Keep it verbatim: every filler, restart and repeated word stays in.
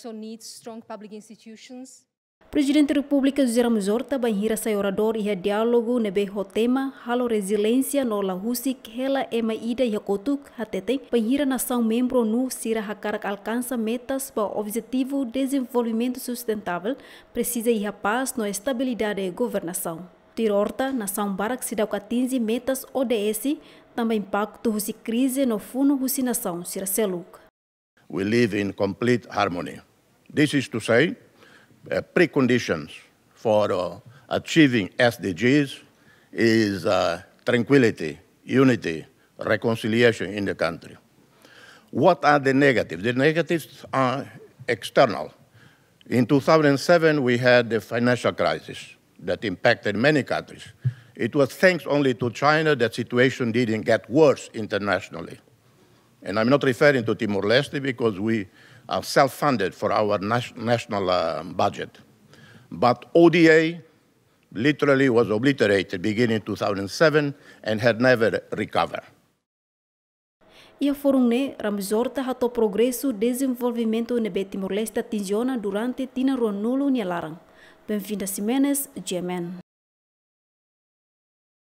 So needs strong public institutions. Prezidente Repúblika José Ramos Horta bainhira sai oradór iha diálogu ne'ebé ho tema halo reziliénsia no la husik hela ema ida iha kotuk, hateten bainhira nasaun membru ONU sira hakarak alkansa metas ba objetivu dezenvolvimentu sustentável, presiza iha pás no estabilidade governasaun. Tuir Horta, nasaun barak seidauk atinje metas O D S, tanba impaktu husi krize no funu husi nasaun sira seluk. We live in complete harmony. This is to say, uh, preconditions for, uh, achieving S D Gs is, uh, tranquility, unity, reconciliation in the country. What are the negatives? The negatives are external. In two thousand seven, we had the financial crisis that impacted many countries. It was thanks only to China that situation didn't get worse internationally. And I'm not referring to Timor-Leste because we are self-funded for our nas-, national, uh, budget. But O D A literally was obliterated beginning two thousand seven and had never recovered. Iha fórum ne'e, Ramos Horta hato'o progresu dezenvolvimentu ne'ebé Timor-Leste atinje ona durante tinan ruanulu nia laran. Benvinda Ximenes, G M N.